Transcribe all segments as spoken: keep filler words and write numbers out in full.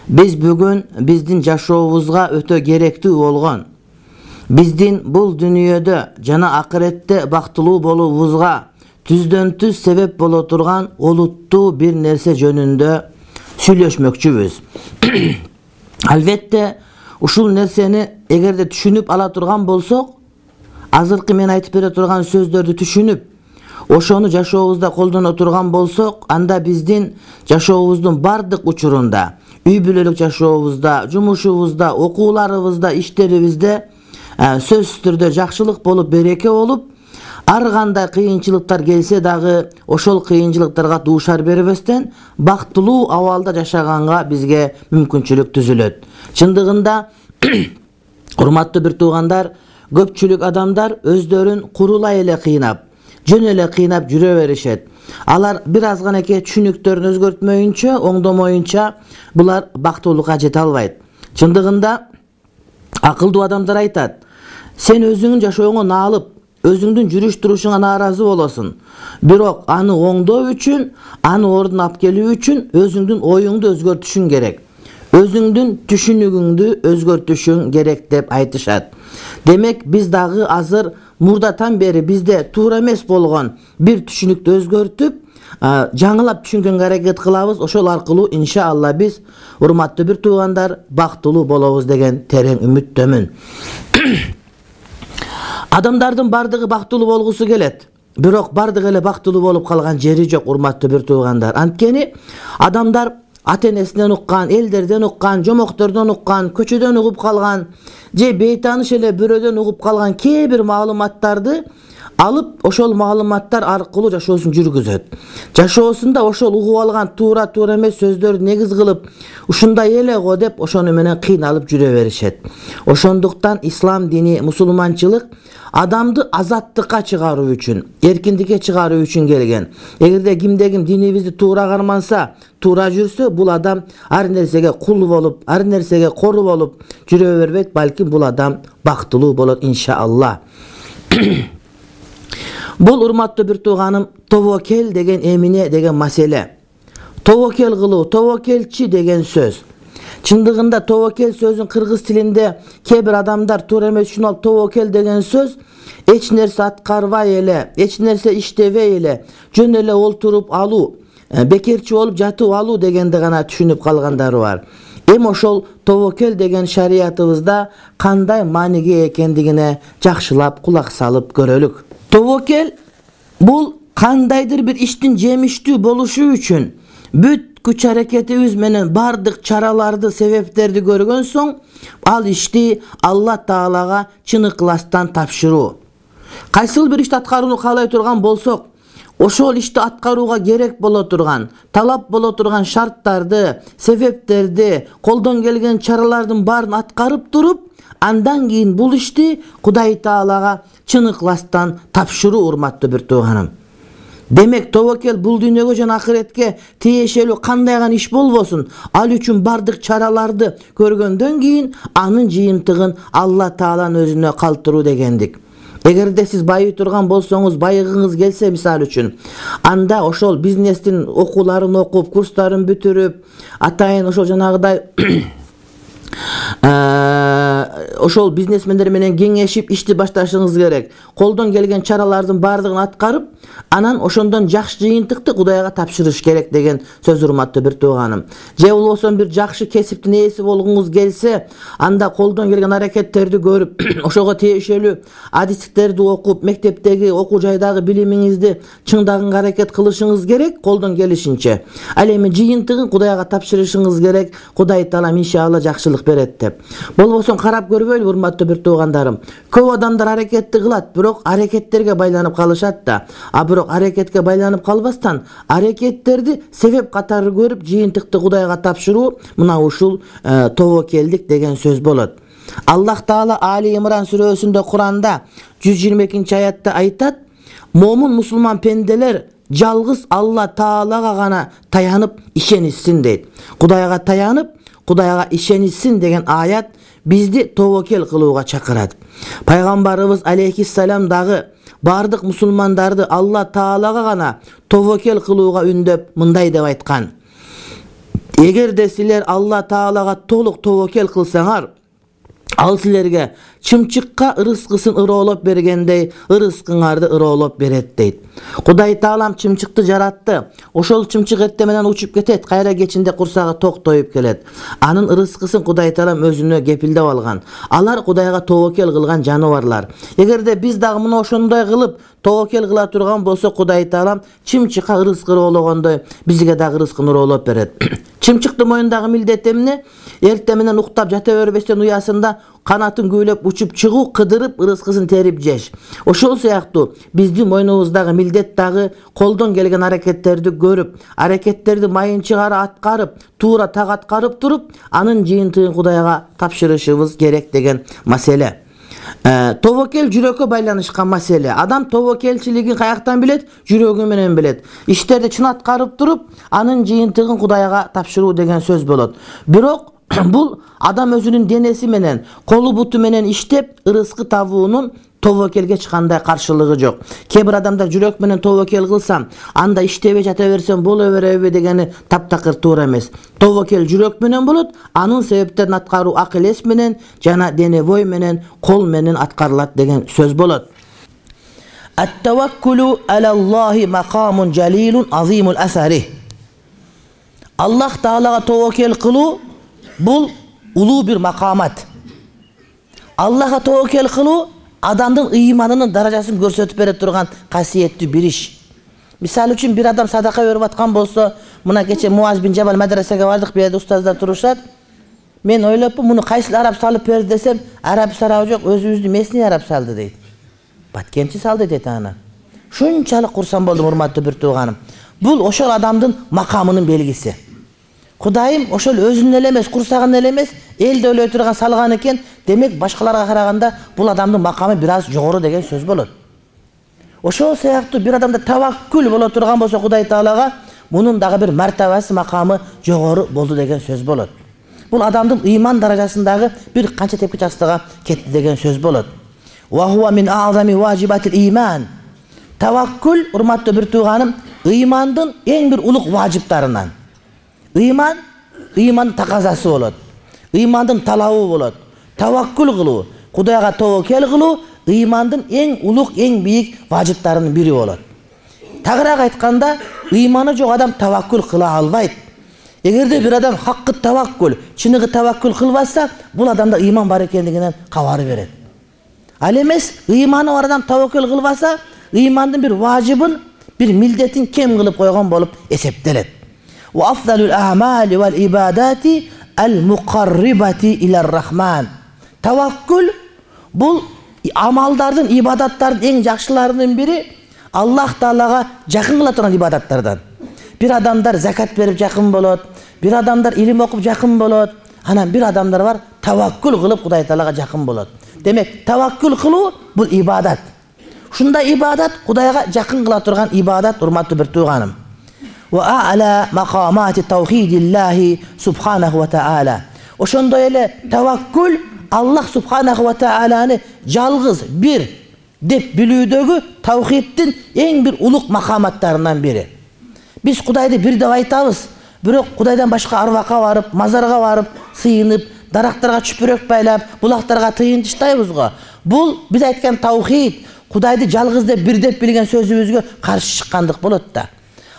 Биз бүгүн биздин жашообузга өтө керектүү болгон, биздин бул дүйнөдө жана акыретте бактылуу болуубузга түздөн түз себеп боло турган олуттуу бир нерсе жөнүндө сүйлөшмөкчүбүз. Албетте, ушул нерсени эгерде түшүнүп ала турган болсок, азыркы мен айтып бере турган сөздөрдү түшүнүп, ошону жашообузда колдоно турган болсок, анда биздин жашообуздун бардык учурунда, үй бүлөлүк жашообузда, жумушубузда, окууларыбызда, иштерибизде сөзсүз түрдө жакшылык болуп, береке болуп, ар кандай кыйынчылыктар келсе дагы ошол кыйынчылыктарга дуушар бербестен бактылуу абалда жашаганга бизге мүмкүнчүлүк түзүлөт. Чындыгында, урматтуу бир туугандар, көпчүлүк адамдар өздөрүн курулай эле кыйнап, жөн эле кыйнап жүрө беришет. Алар бир аз ганеке түшүнүктөрүн өзгөртмөйүнчө, оңдомоюнча булар бактылуулукка жете албайт. Чындыгында акылдуу адамдар айтат: сен өзүңдүн жашооңо наалып, өзүңдүн жүрүш турушуңа нааразы болосуң. Бирок аны оңдоо үчүн, аны ордуна алып келүү үчүн өзүңдүн оюңду өзгөртүшүң керек. Өзүңдүн түшүнүгүңдү өзгөртүшүң керек деп айтышат. Демек, биз дагы азыр мурдатан бери бизде туура эмес болгон бир түшүнүктү өзгөртүп, жаңылап түшүнгөнгө аракет кылабыз. Ошол аркылуу иншалла биз, урматтуу бир туугандар, бактылуу болобуз деген терең үмүттөмүн. Адамдардын бардыгы бактылуу болгусу келет. Бирок бардыгы эле бактылуу болуп калган жери жок, урматтуу бир туугандар. Анткени адамдар ата-энесинен уккан, элдерден уккан, жомоктордон уккан, көчөдөн угуп калган, же бейтааныш эле бирөөдөн угуп калган кээ бир маалыматтарды алып, ошол маалыматтар аркылуу жашоосун жүргүзөт. Жашоосунда ошол угуп алган туура-туура эмес сөздөрдү негиз кылып, ушундай эле го деп ошону менен кыйналып жүрө беришет. Ошондуктан ислам дини, мусулманчылык адамды азаттыкка чыгаруу үчүн, эркиндикке чыгаруу үчүн келген. Эгерде кимде ким динибизди туура карманса, туура жүрсө, бул адам ар нерсеге кул болуп, ар нерсеге кору болуп жүрө бербейт, балким бул адам бактылуу болот иншалла. Бул, урматтуу бир тууганым, тобокел деген эмне деген маселе. Тобокел кылуу, тобокелчи деген сөз. Чындыгында тобокел сөзүн кыргыз тилинде кээ бир адамдар туура эмес түшүнүп алып, тобокел деген сөз эч нерсе аткарбай эле, эч нерсе иштебей эле, жөн эле олтуруп алуу, бекерчи болуп жатып алуу дегенди гана түшүнүп калгандары бар. Эми ошол тобокел деген шариятыбызда кандай мааниге экендигине жакшылап кулак салып көрөлүк. Тобокел бул кандайдыр бир иштин жемиштүү болушу үчүн бүт күч аракетибиз менен бардык чараларды, себептерди көргөн соң, ал ишти Алла Таалага чын ыкластан тапшыруу. Кайсыл бир ишти аткарууну каалай турган болсок, ошол ишти аткарууга керек боло турган, талап боло турган шарттарды, себептерди, колдон келген чаралардын баарын аткарып туруп, андан кийин бул ишти Кудай Таалага чын ыкластан тапшыруу, урматтуу бир тууганым. Демек, тобокел бул дүйнөгө жана акыретке тиешелүү кандай гана иш болбосун, ал үчүн бардык чараларды көргөндөн кийин анын жыйынтыгын Алла Тааланын өзүнө калтыруу дегендик. Эгерде сиз байый турган болсоңуз, байыгыңыз келсе, мисалы үчүн, анда ошол бизнестин окууларын окуп, курстарын бүтүрүп, атайын ошол жанагыдай ошол бизнесмендер менен кеңешип ишти башташыңыз керек. Колдон келген чаралардын баардыгын аткарып, анан ошондон жакшы жыйынтыкты Кудайга тапшырыш керек деген сөз, урматтуу бир тууганым. Же болбосо бир жакшы кесиптин ээси болгуңуз келсе, анда колдон келген аракеттерди көрүп, ошого тиешелүү адистиктерди окуп, мектептеги, окуу жайдагы билимиңизди чыңдаганга аракет кылышыңыз керек, колдон келишинче. Ал эми жыйынтыгын Кудайга тапшырышыңыз керек, Кудай Таалам иншалла жакшылык берет деп. Болбосо карап көрбөйлү, урматтуу бир туугандарым. Көп адамдар аракетти кылат, бирок аракеттерге байланып калышат да. А бирок аракетке байланып калбастан, аракеттерди себеп катары көрүп, жыйынтыкты Кудайга тапшыруу, мына ушул тобокелдик деген сөз болот. Аллах Таала Али Имран сүрөсүндө, Куранда жүз жыйырма экинчи аятта айтат: "Момун мусулман пенделер жалгыз Алла Таалага гана таянып ишенишсин" дейт. Кудайга таянып, Кудайга ишенишсин деген аят бизди тобокел кылууга чакырат. Пайгамбарыбыз алейхиссалам дагы бардык мусулмандарды Алла Таалага гана тобокел кылууга үндөп мындай деп айткан: эгерде силер Алла Таалага толук тобокел кылсаңар, ал силерге чымчыкка ырыскысын ыроолоп бергендей ырыскыңарды ыроолоп берет дейт. Кудай Таалам чымчыкты жаратты. Ошол чымчык эрте менен учуп кетет, кайра кечинде курсагы ток тоюп келет. Анын ырыскысын Кудай Таалам өзүнө кепилдеп алган. Алар Кудайга тобокел кылган жаныбарлар. Эгерде биз дагы мына ошондой кылып тобокел кыла турган болсо, Кудай Таалам чымчыкка ырыскы ыроологондой бизге дагы ырыскын ыроолоп берет. Чымчыктын моюндагы милдети эмне? Эрте менен уктап жата бербестен уясында канатын көйлөп учуп чыгуу, кыдырып ырыскысын терип жеш. Ошол сыяктуу биздин мойнубуздагы милдет дагы колдон келген аракеттерди көрүп, аракеттерди майынчыгары аткарып, туура так аткарып туруп, анын жыйынтыгын Кудайга тапшырышыбыз керек деген маселе. Тобокел жүрөккө байланышкан маселе. Адам тобокелчилигин каяктан билет? Жүрөгү менен билет. Иштерди чын аткарып туруп, анын жыйынтыгын Кудайга тапшыруу деген сөз болот. Бирок бул адам өзүнүн денеси менен, колу буту менен иштеп ырыскы табуунун тобокелге эч кандай каршылыгы жок. Кээ бир адамдар жүрөк менен тобокел кылсам, анда иштебей жата берсем боло береби дегени таптакыр туура эмес. Тобокел жүрөк менен болот, анын себептерин аткаруу акыл эс менен жана дене бой менен, кол менен аткарылат деген сөз болот. Ат-таваккулу алаллахи макамун жалилун азимул асари. Аллах Таалага тобокел кылуу бул улуу бир макамат. Аллахга тобокел кылуу адамдын ыйманынын даражасын көрсөтүп бере турган касиеттүү бир иш. Мисалы үчүн бир адам садака берип аткан болсо, мына кече Муаз бин Жабал медресеге бардык, бу жерде устаздар турушат. Мен ойлоппун, муну кайсыл араб салып берди десем, араб сарабы жок, өзүбүздүн местный араб салды дейт. Баткенчи салды дейт аны. Шунчалык курсан болдум, урматтуу бир тууганым. Бул ошол адамдын макамынын белгиси. Кудайым ошол өзүнүн эле эмес, курсагын эле эмес, элди ойлой турган салган экен. Демек башкаларга караганда бул адамдын макамы бир аз жогору деген сөз болот. Ошол сыяктуу бир адамда таваккул боло турган болсо Кудай Таалага, мунун дагы бир мартабасы, макамы жогору болду деген сөз болот. Бул адамдын ыйман даражасындагы бир канча тепки частыга кетти деген сөз болот. Ва хуа мин а'зами важибатил иман. Таваккул, урматтуу бир тууганым, ыймандын эң бир улук важиптарынан. Ыйман, ыймандын таказасы болот. Ыймандын талабы болот. Таваккул кылуу, Кудайга тобокел кылуу ыймандын эң улук, эң бийик важиптарынын бири болот. Тагыраак айтканда, ыйманы жок адам таваккул кыла албайт. Эгерде бир адам хаккы таваккул, чыныгы таваккул кылбаса, бул адамда ыйман бар экендигинен кабары берет. Ал эмес, ыйманы бар адам таваккул кылбаса, ыймандын бир важибын, бир милдетин кем кылып койгон болуп эсептелет. Ва афдалул а'мали вал ибадати ал-муқаррибати илар-рахман. Таваккул бул амалдардын, ибадаттардын эң жакшыларынын бири, Аллах Таалага жакын кыла турган ибадаттардан. Бир адамдар закат берип жакын болот, бир адамдар илим окуп жакын болот, анан бир адамдар бар таваккул кылып Кудай Таалага жакын болот. Демек, таваккул кылуу бул ибадат. Ушундай ибадат Кудайга жакын кыла турган ибадат, урматтуу бир тууганым. Ва а'ла мaqamati tawhidillah subhanahu wa ta'ala. Ошондой эле таваккул Аллах субханаху ва тааланы жалгыз бир деп билүүдөгү тавхиддин эң бир улук макаматтарынан бири. Биз Кудайды бир деп айтабыз, бирок Кудайдан башка арбакка барып, мазарга барып, сыйынып, дарактарга чүпүрөк байлап, булактарга тыйын таштайбыз го. Бул биз айткан тавхид, Кудайды жалгыз деп бир деп билген сөзүбүзгө каршы чыккандык болот да.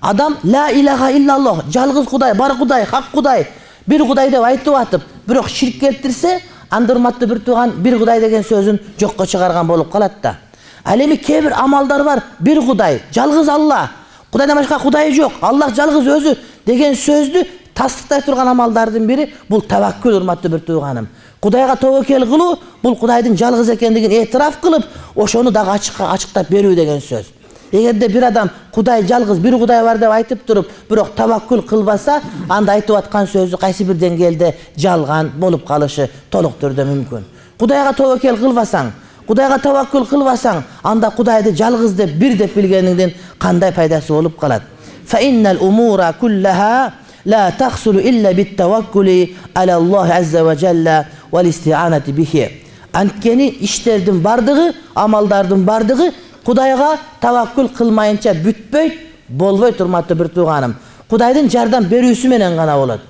Адам ла илаха иллаллах, жалгыз Кудай, бар Кудай, хак Кудай, бир Кудай деп айтып атып, бирок ширк келтирсе, анда урматтуу бир тууган бир Кудай деген сөзүн жокко чыгарган болуп калат да. Ал эми кээ бир амалдар бар, бир Кудай, жалгыз Алла, Кудайдан башка Кудай жок, Аллах жалгыз өзү деген сөздү тастыктай турган амалдардын бири бул таваккул, урматтуу бир тууганым. Кудайга тобокел кылуу бул Кудайдын жалгыз экендигин этираф кылып, ошону дагы ачыкка ачыктап берүү деген сөз. Эгерде бир адам Кудай жалгыз бир Кудай бар деп айтып туруп, бирок таваккул кылбаса, анда айтып аткан сөзү кайсы бир деңгээлде жалган болуп калышы толук түрдө мүмкүн. Кудайга тобокел кылбасаң, Кудайга таваккул кылбасаң, анда Кудайды жалгыз деп бир деп билгениңдин кандай пайдасы болуп калат? Fa innal umura kullaha la tahsulu illa bit tawakkuli ala Allah azza wa jalla wal isti'anati bihi. Анткени иштердин бардыгы, амалдардын бардыгы Кудайга таваккул кылмайынча бүтпөйт, болбойт урматтуу бир тууганым. Кудайдын жардам берүүсү менен гана болот.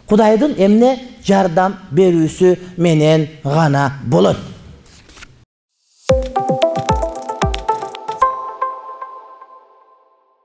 Кудайдын эмне жардам берүүсү менен гана болот.